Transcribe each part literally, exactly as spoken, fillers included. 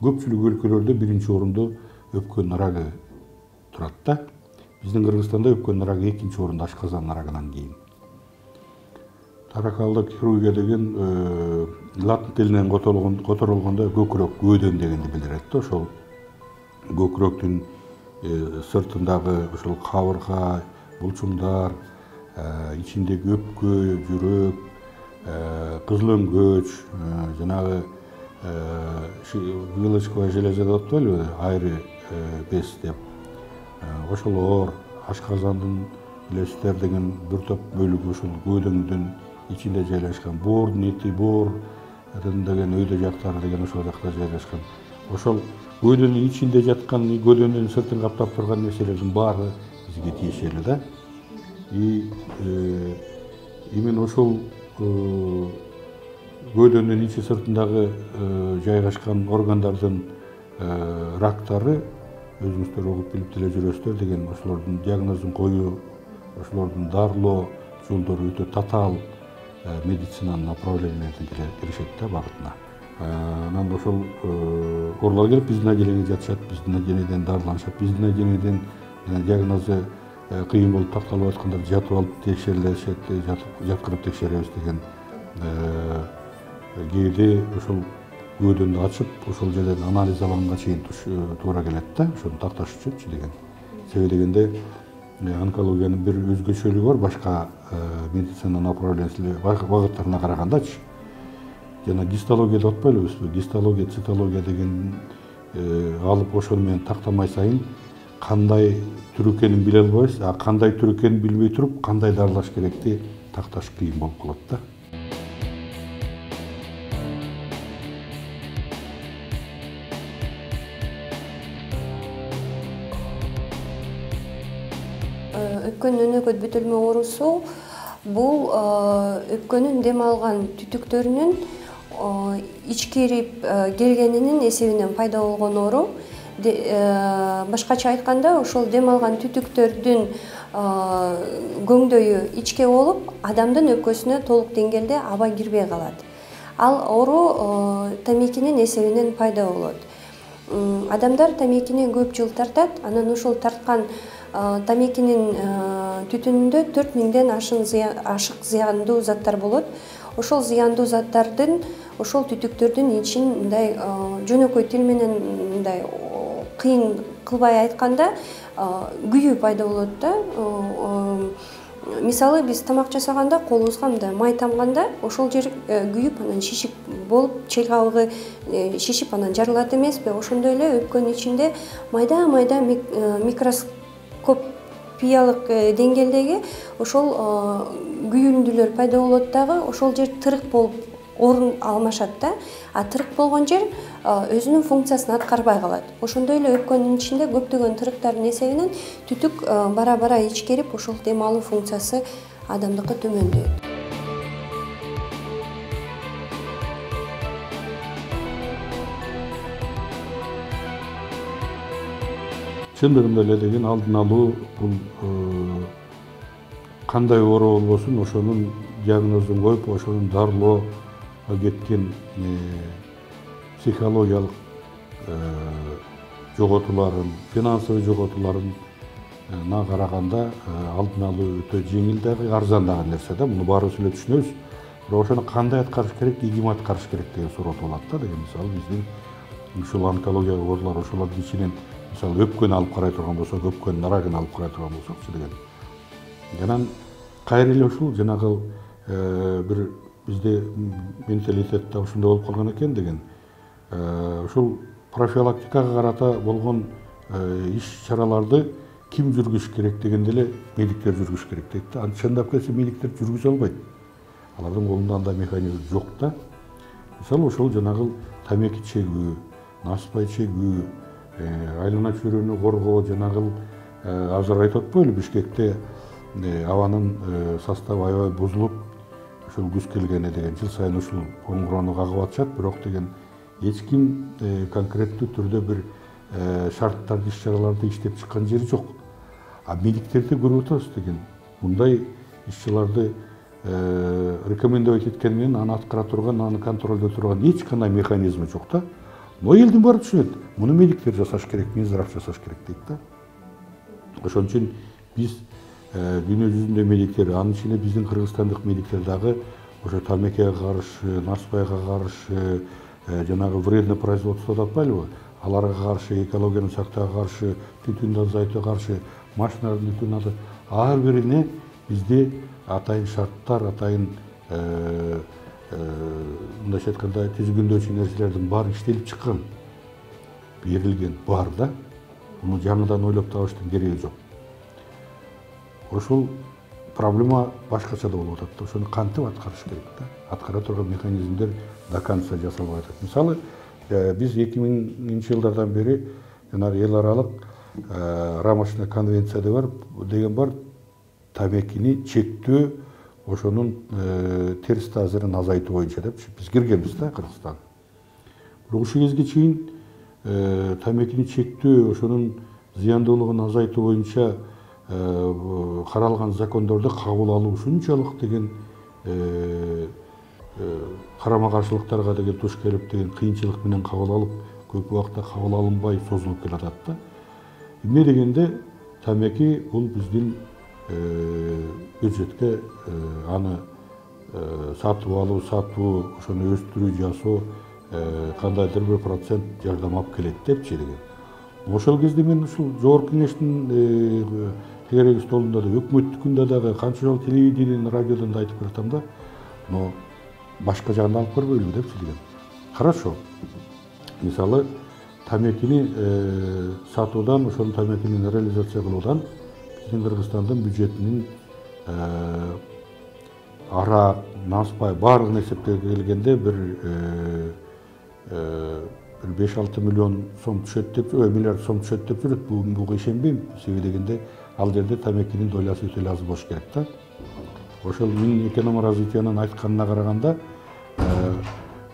көпчүлүк өлкөлөрдө биринчи орунду өпкөн ырагы турат да. Биздин Кыргызстанда өпкөн ырагы экинчи орунда, ашказан ырагынан кийин. Торакалдык хирургия деген латын тилинен которулгондо көкүрөк көөдөн дегенди билдирет да. Ошол көкүрөктүн сыртындагы ошол кабырга, булчуңдар, ичиндеги өпкө, жүрөк, кызыл өңгөч, жанагы вилочковая железа деп атпайлыбы, айры без деп. Ошолор, ашказандын билесиздер деген бир топ бөлүгү ошол көөдөңдүн ичинде жайлашкан. Боордун эти, боор деген өйдө жактары деген ошол жакта жайлашкан. Ошол көөдөнүн ичинде жаткан, көөдөнүн сыртын каптап турган нерселердин баары бизге тиешелүү да. И именно ошол көөдөнүн ичи сыртындагы жайгашкан органдардын рактары өзүңүздөр угуп билип деле жүрөсүздөр деген ошолордун диагнозун коюу, ошолордун дарылоо жолдору өтө татаал медицинанын направлениялерден киришет да багытына. Анан ошол оорулар келип биздин отделениеге жатышат, биздин отделениеден дарыланышат, биздин отделениеден диагнозу кыйын болуп такталып аткандар жатып алып текшерилишет, жаткырып текшеребиз деген кээде ошол көөдөнү ачып, ошол жерден анализ алганга чейин туура келет да, ошону такташ үчүнчү деген. Себеби дегенде онкологиянын бир өзгөчөлүгү бар башка медицина направлениясына багыттарына карагандачы. Жана гистология деп атпайлыбызбы? Гистология, цитология деген алып ошону менен тактамай сайын кандай түр экенин биле албайбыз, а кандай түр экенин билбей туруп, кандай дарылаш керекти такташ кыйын болуп калат да. Өпкөн өнөкөт бүтүлмө оорусу бул өпкөнүн дем алган түтүктөрүнүн ичкирип келгенинин эсебинен пайда болгон оору. Башкача айтканда, ошол дем алган түтүктөрдүн көңдөйү ичке болуп, адамдын өпкөсүнө толук деңгээлде аба кирбей калат. Ал оору тамекинин эсебинен пайда болот. Адамдар тамекини көп жыл тартат, анан ошол тарткан тамекинин түтүнүндө төрт миңден ашык зыяндуу заттар болот. Ошол зыяндуу заттардын ошол түтүктөрдүн ичин мындай жөнөкөй тил менен мындай кыйын кылбай айтканда күйүү пайда болот да. Мисалы биз тамак жасаганда колубузга мындай май тамганда ошол жер күйүп анан шишип болуп, чел кабыгы шишип анан жарылат эмеспи? Ошондой эле өпкөнүн ичинде майда-майда микроскопиялык деңгээлдеги ошол күйүндүлөр пайда болот дагы, ошол жер тырык болуп орун алмашат да. А тырык болгон жер өзүнүн функциясын аткарбай калат. Ошондой эле өпкөнүн ичинде көптөгөн тырыктардын эсебинен түтүк бара-бара ичкерип, ошол дем алуу функциясы адамдыкы төмөндөйт. Чындыгында эле деген алдын алуу бул кандай оору болбосун ошонун диагнозун коюп, ошонун дарылоо кеткен психологиялык жоготууларын, финансовый жоготууларына караганда алдын алуу өтө жеңил дагы, арзан дагы нерсе да. Муну баарыбыз эле түшүнөбүз. Бирок ошону кандай аткарыш керек, ким аткарыш керек деген суроо болот да. Деген мисалы биздин ушул онкология оорулар ошолордун ичинен мисалы өпкөнү алып карай турган болсок, өпкөнүн ырагын алып карай турган болсокчу деген. Анан кайра эле ушул жанагы бир бизде менталитетте ушундай болуп калган экен деген. Ушул профилактикага карата болгон иш-чараларды ким жүргүзүш керек дегенде эле медиктер жүргүзүш керек дейт да. Чындап келсе медиктер жүргүзө албайт. Алардын колунда андай механизм жок да. Мисалы ошол жанагы тамеки чегүү, наспай чегүү, айлана чөйрөнү коргоо, жанагы азыр айтып атпайлы Бишкекте абанын составы аябай бузулуп, ушул күз келгене деген жыл сайын ушул коңгуроону кагып атышат, бирок деген эч ким конкреттүү түрдө бир шарттарды, иш-чараларды иштеп чыккан жери жок. А медиктерди көрүп атабыз деген мындай иш-чараларды рекомендовать эткени менен аны аткара турган, аны контролдой турган эч кандай механизми жок да. Но элдин баары түшүнөт. Муну медиктер жасаш керек, Минздрав жасаш керек дейт да. Ошон үчүн биз дүйнө жүзүндө медиктер, анын ичинде биздин кыргызстандык медиктер дагы ошо тамекиге каршы, нарспайга каршы, жанагы вредный производство деп атпайлыбы? Аларга каршы, экологияны сактоого каршы, түтүндү азайтууга каршы, машиналардын түтүнүн азайтуу, ар бирине бизде атайын шарттар, атайын мындайча айтканда түзгүндөчү нерселердин баары иштелип чыккан, берилген бар да. Муну жаңыдан ойлоп табыштын кереги жок. Ошол проблема башкача да болуп атат. Ошону кантип аткарыш керек да? Аткара турган механизмдер до конца жасалбай атат. Мисалы, биз эки миңинчи жылдардан бери жанагы эл аралык рамочный конвенция деген бар, тамекини чектөө, ошонун терс таасирин азайтуу боюнча деп биз киргенбиз да Кыргызстан. Бирок ушул кезге чейин тамекини чектөө, ошонун зыяндуулугун азайтуу боюнча каралган закондорду кабыл алуу ушунчалык деген карама каршылыктарга деген туш келип деген кыйынчылык менен кабыл алып, көп убакытта кабыл алынбай созулуп келатат да. Эмне дегенде тамеки бул биздин бюджетке аны сатып алуу, сатуу, ошону өстүрүү, жасоо кандайдыр бир процент жардам алып келет депчи деген. Ошол кезде мен ушул жогорку кеңештин тегереги столунда да, өкмөттүкүндө дагы канча жолу телевидениеден, радиодон да айтып баратам да, но башка жагын алып көрбөйлүбү депчи деген. Хорошо. Мисалы, тамекини сатуудан, ошол тамекини реализация кылуудан биздин Кыргызстандын бюджетинин арак, наспай баардыгын эсептеп келгенде бир беш алты миллион сом түшөт деп, миллиард сом түшөт деп жүрөт. Буга ишенбейм. Себеби дегенде ал жерде тамекинин долясы өтө эле аз болуш керек да. Ошол Минэкономия развитиянын айтканына караганда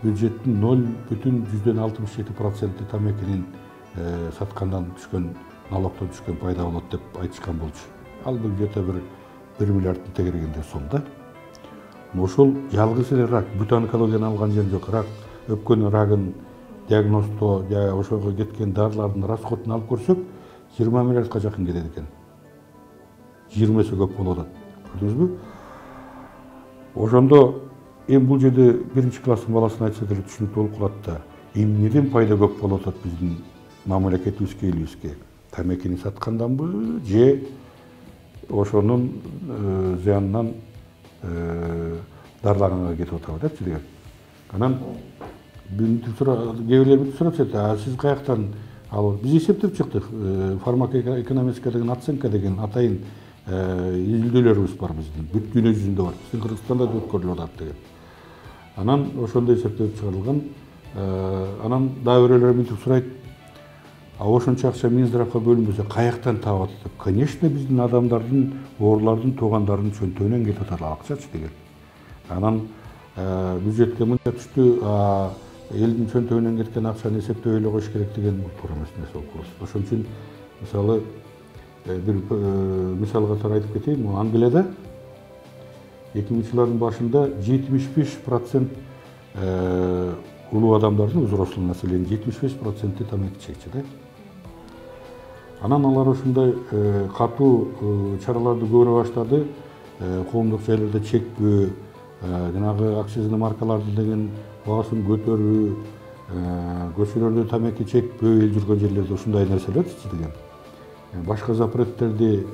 бюджеттин ноль бүтүн жүздөн алтымыш жети проценти тамекинин саткандан түшкөн, налогдон түшкөн пайда болот деп айтышкан болчу. Ал бюджетте бир бир миллиардтын тегерегинде сом да. Ошол жалгыз эле рак, бүт онкологияны алган жери жок. Рак, өпкөнүн рагын диагноздоо, ошого кеткен дарылардын расходун алып көрсөк, жыйырма миллиардка жакын кетет экен. жыйырмасы көп болуп атат. Көрдүңүзбү? Ошондо эми бул жерде биринчи класстын баласына айтса деле түшүнүктүү болуп калат да. Эмнеден пайда көп болуп атат биздин мамлекетибизге, элибизге? Тамекини сатканданбы же ошонун зыянынан дарылаганга кетип атабы депчи деген. Анан кээ бирлер бүтүп сурап атат, сиз каяктан ал биз эсептеп чыктык. Фармакоэкономическая деген оценка деген атайын изилдөөлөрүбүз бар биздин. Бүт дүйнө жүзүндө бар. Биздин Кыргызстанда да өткөрүлүп атат деген. Анан ошондой эсептеп чыгарылган. Анан дагы бирөөлөр мынтип сурайт. А ошончо акча Минздравга бөлүнбөсө каяктан таап атат деп. Конечно, биздин адамдардын, оорулардын, туугандарынын чөнтөгүнөн кетип атат ал акчачы деген. Анан бюджетке мынча түштү, элдин чөнтөгүнөн кеткен акчаны эсептөй эле коюш керек деген бул туура эмес нерсе болуп калат. Ошон үчүн мисалы бир мисал катары айтып кетейин. Англияда эки миңинчи жылдардын башында жетимиш беш процент улуу адамдардын, взрослый население жетимиш беш проценти тамеки чекчи да. Анан алар ушундай катуу чараларды көрө баштады. Коомдук жайларда чекпөө, жанагы акцизный маркаларды деген баасын көтөрүү, көчөлөрдө тамеки чекпөө, эл жүргөн жерлерде ушундай нерселер деген. Башка запреттерди,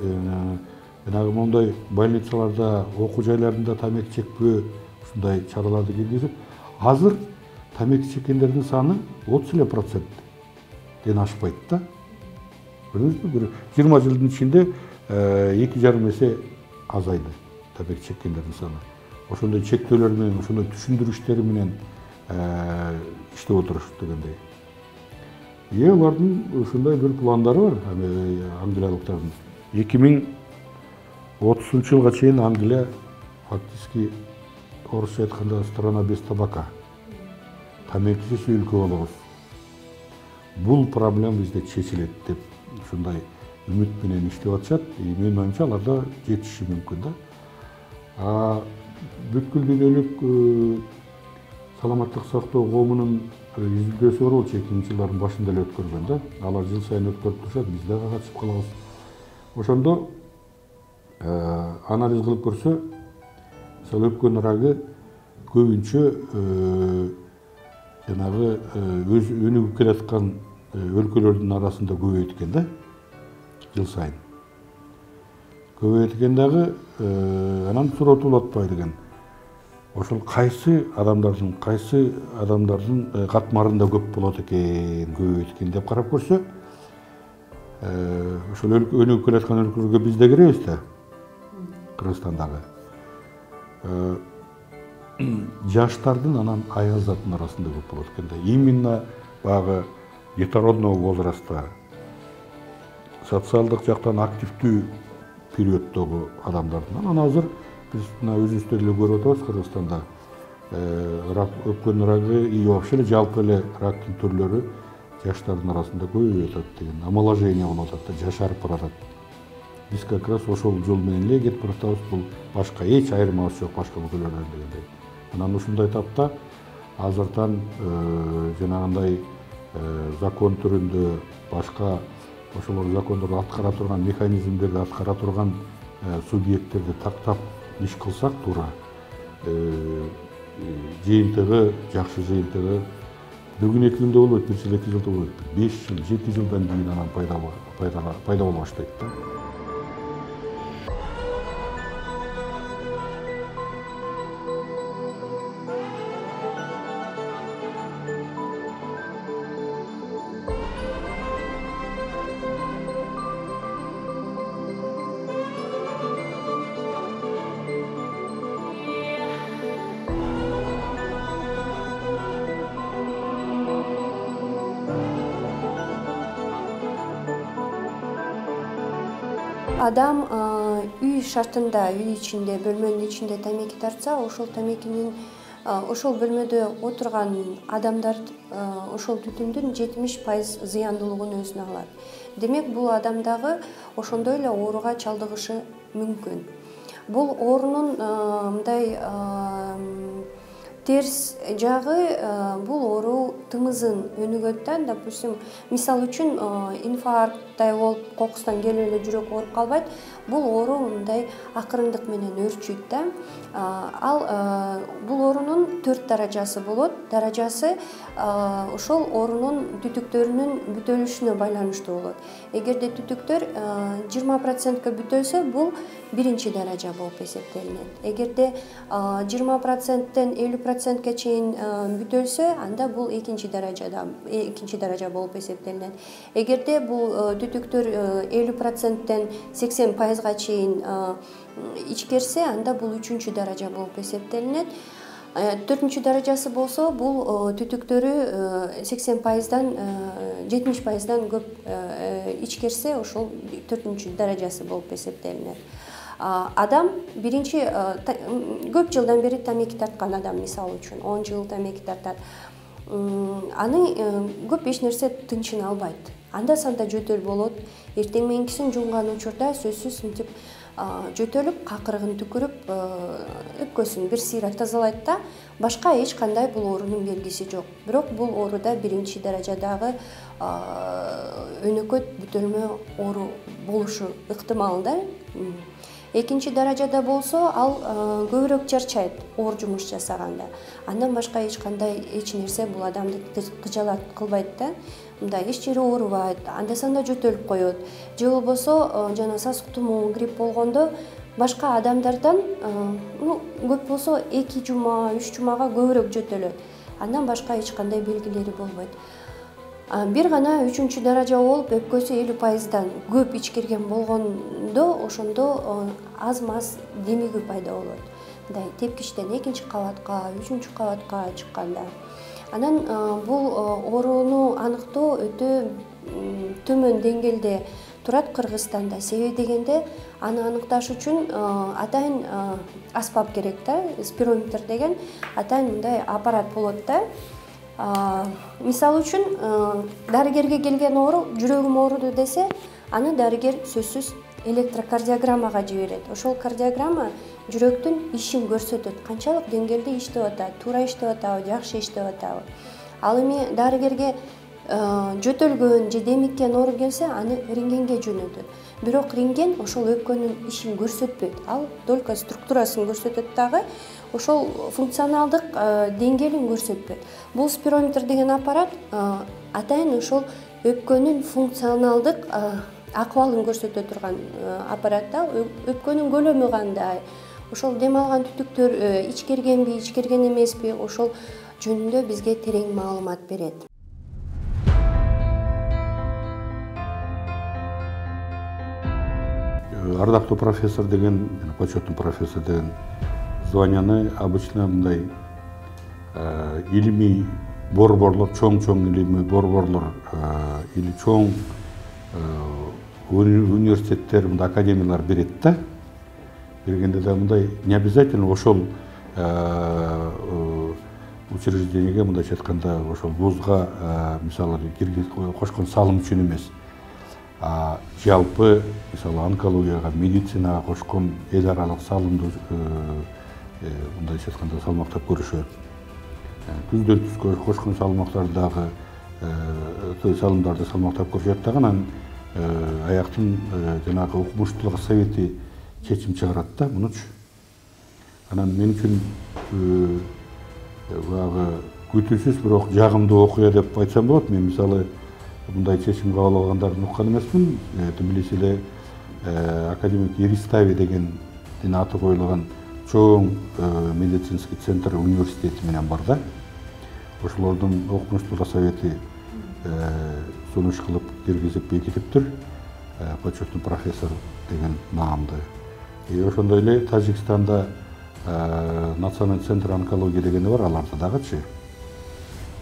жанагы мондай больницаларда, окуу жайларында тамеки чекпөө, ушундай чараларды киргизип, азыр тамеки чеккендердин саны отуз эле проценттен ашпайт да. Көрдүңүзбү? Бир жыйырма жылдын ичинде эки жарым эсе азайды тамеки чеккендердин саны. Ошондой чектөөлөр менен, ошондой түшүндүрүштөр менен иштеп отурушат дегендей. Е, алардын ушундай бир пландары бар, англиялыктардын. эки миң отузунчу жылга чейин Англия фактически орусча айтканда страна без табака. Тамекисиз өлкө болобуз. Бул проблема бизде чечилет деп ушундай үмүт менен иштеп атышат. Менин оюмча алар да жетиши мүмкүн да. А бүткүл дүйнөлүк саламаттык сактоо коомунун изилдөөсү бар болчу эки миңинчи жылдардын башында эле өткөргөн да. Алар жыл сайын өткөрүп турушат, биз дагы катышып калабыз. Ошондо анализ кылып көрсө, мисалы өпкөн рагы көбүнчө жанагы өз өнүгүп келаткан өлкөлөрдүн арасында көбөйөт экен да, жыл сайын. Көбөйөт экен дагы, анан суротулуп атпайбы деген. Ошол кайсы адамдардын, кайсы адамдардын катмарында көп болот экен, көбөйөт экен деп карап көрсө, ошол өнүгүп келаткан өлкөлөргө биз да киребиз да, Кыргызстандагы. Жаштардын анан аяздардын арасында көп болот экен да. Именно баягы детородного возраста, социалдык жактан активдүү периоддогу адамдардын. Анан азыр биз мына өзүбүздө эле көрүп атабыз Кыргызстанда. Рак, өпкөн рагы и вообще эле жалпы эле рактын түрлөрү жаштардын арасында көбөйүп атат деген, омоложение болуп атат да, жашарып баратат. Биз как раз ошол жол менен эле кетип баратабыз. Бул башка эч айырмасы жок башка өлкөлөрдөн дегендей. Анан ушундай тапта азыртан жанагындай закон түрүндө башка ошол закондорду аткара турган механизмдерди аткара турган субъекттерди тактап иш кылсак туура, жыйынтыгы, жакшы жыйынтыгы бүгүн эки күндө болбойт, бир жыл эки жылда болбойт, беш жыл, жети жылдан кийин анан пайда пайда боло баштайт да. Адам үй шартында, үй ичинде, бөлмөнүн ичинде тамеки тартса, ошол тамекинин ошол бөлмөдө отурган адамдар ошол түтүндүн жетимиш пайыз зыяндуулугун өзүнө алат. Демек, бул адам дагы ошондой эле ооруга чалдыгышы мүмкүн. Бул оорунун мындай терс жагы, бул оору тымызын өнүгөт да, допустим, мисал үчүн инфаркттай болуп, кокустан келип эле жүрөк ооруп калбайт. Бул оору мындай акырындык менен өрчүйт да. Ал бул оорунун төрт даражасы болот. Даражасы ошол оорунун түтүктөрүнүн бүтөлүшүнө байланыштуу болот. Эгерде түтүктөр жыйырма процентке бүтөлсө, бул биринчи даража болуп эсептелинет. Эгерде жыйырма проценттен элүү процентке чейин бүтөлсө, анда бул экинчи даражада, экинчи даража болуп эсептелинет. Эгерде бул түтүктөр элүү проценттен сексен пайызга чейин ичкерсе, анда бул үчүнчү даража болуп эсептелинет. Төртүнчү даражасы болсо, бул түтүктөрү сексен пайыздан жетимиш пайыздан көп ичкерсе, ошол төртүнчү даражасы болуп эсептелинет. Адам биринчи көп жылдан бери тамеки тарткан адам, мисалы үчүн он жыл тамеки тартат. Аны көп эч нерсе тынчын албайт. Анда санда жөтөл болот. Эртең мененкисин жумган учурда сөзсүз мынтип жөтөлүп, какырыгын түкүрүп, өпкөсүн бир сыйра тазалайт да, башка эч кандай бул оорунун белгиси жок. Бирок бул ооруда биринчи даражадагы өнөкөт бүтөлмө оору болушу ыктымал да. Экинчи даражада болсо, ал көбүрөөк чарчайт оор жумуш жасаганда. Андан башка эч кандай эч нерсе бул адамды кыжалат кылбайт да. Мындай эч жери оорубайт, анда санда жөтөлүп коет. Же болбосо, жана сасык тумоо, грипп болгондо башка адамдардан көп болсо эки жума, үч жумага көбүрөөк жөтөлөт. Андан башка эч кандай белгилери болбойт. Бир гана үчүнчү даража болуп, өпкөсү элүү пайыздан көп ичкерген болгондо, ошондо аз-маз демигүү пайда болот. Мындай тепкичтен экинчи кабатка, үчүнчү кабатка чыкканда. Анан бул ооруну аныктоо өтө төмөн деңгээлде турат Кыргызстанда. Себеби дегенде, аны аныкташ үчүн атайын аспап керек да, спирометр деген атайын мындай аппарат болот да. Мисалы үчүн, дарыгерге келген оору, жүрөгүм ооруду десе, аны дарыгер сөзсүз электрокардиограммага жиберет. Ошол кардиограмма жүрөктүн ишин көрсөтөт, канчалык деңгээлде иштеп атат, туура иштеп атабы, жакшы иштеп атабы. Ал эми дарыгерге жөтөлгөн же демиккен оору келсе, аны рентгенге жөнөтөт. Бирок рентген ошол өпкөнүн ишин көрсөтпөйт. Ал только структурасын көрсөтөт дагы, ошол функционалдык деңгээлин көрсөтпөйт. Бул спирометр деген аппарат атайын ошол өпкөнүн функционалдык акыбалын көрсөтө турган аппарат да. Өпкөнүн көлөмү кандай, ошол дем алган түтүктөр ичкергенби, ичкерген эмеспи, ошол жөнүндө бизге терең маалымат берет. Ардактуу профессор деген, почетный профессор деген званияны обычно мындай илимий борборлор, чоң-чоң илимий борборлор или чоң университеттер, мындай академиялар берет да. Бергенде да мындай не обязательно ошол учреждениеге, мындайча айтканда, ошол вузга мисалы кошкон салым үчүн эмес. Жалпы, мисалы, онкологияга, медицинага кошкон эл аралык салымды мындайча айтканда салмактап көрүшөт. Түздөн түзгө кошкон салмактарды дагы салымдарды салмактап көрүшөт дагы, анан аяктын жанагы укмуштуулук совети чечим чыгарат да мунучу. Анан мен үчүн баягы күтүүсүз, бирок жагымдуу окуя деп айтсам болот. Мен мисалы мындай чечим кабыл алгандарын уккан эмесмин. Тбилиси эле академик Эристави деген аты коюлган чоң медицинский центр университети менен бар да. Ошолордун окумуштуулук совети сунуш кылып киргизип бекитиптир. Почетный профессор деген наамды. И ошондой эле Тажикстанда национальный центр онкологии дегени бар, аларда дагычы.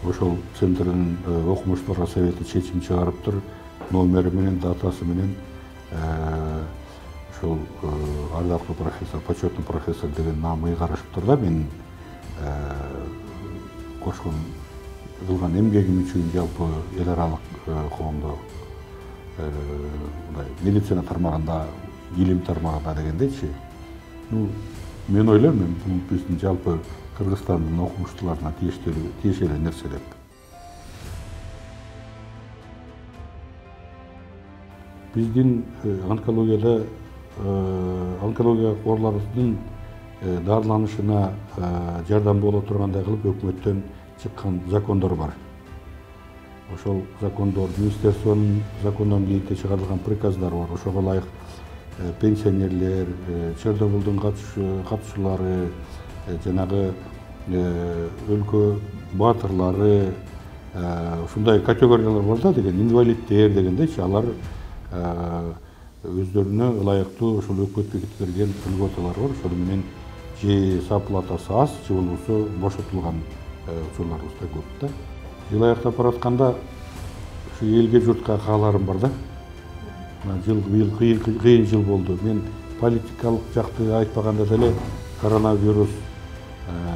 Ошол центрдин окумуштуулук совети чечим чыгарыптыр, номери менен, датасы менен ошол ардактуу профессор, почетный профессор деген наам ыйгарышыптыр да. Мен кошкон кылган эмгегим үчүн жалпы эл аралык коомдо мындай медицина тармагында, илим тармагында дегендейчи. Ну, мен ойлойм, мен бул биздин жалпы Кыргызстандын окумуштууларына тиешелүү нерсе деп. Биздин онкологияда онкология ооруларынын дарыланышына жардам боло тургандай кылып өкмөттөн чыккан закондор бар. Ошол закондор, министерствонун закондон кийин чыгарылган приказдар бар. Ошого ылайык пенсионерлер, Чернобылдын катышуулары, жанагы өлкө баатырлары, ушундай категориялар бар да, деген инвалидтер дегендейчи, алар өздөрүнө ылайыктуу ошол өкмөт бекитип берген льготалар бар. Ошол менен же саплатасы аз, же болбосо бошотулган учурларыбыз да көп да. Жыл аяктап баратканда ушу элге журтка кааларым бар да. Жыл быйыл кыйын жыл болду. Мен политикалык жакты айтпаганда деле коронавирус,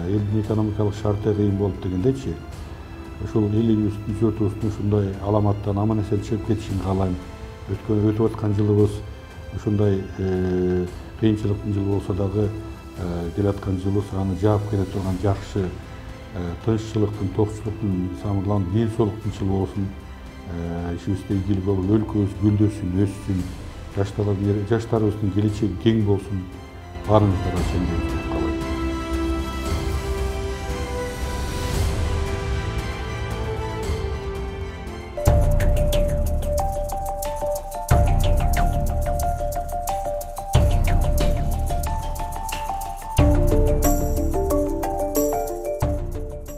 элдин экономикалык шарты кыйын болуп дегендейчи. Ошол элибиздин журтубуздун ушундай аламаттан аман эсен чыгып кетишин каалайм. Өткөн өтүп аткан жылыбыз ушундай кыйынчылыктын жылы болсо дагы келаткан жылыбыз аны жаап келе турган жакшы тынччылыктын, токчулуктун, самырлан ден соолуктун жылы болсун. Ишибизде ийгилик болуп, өлкөбүз гүлдөсүн, өссүн, жаштарыбыздын келечеги кең болсун. Баарыңыздарга чейин.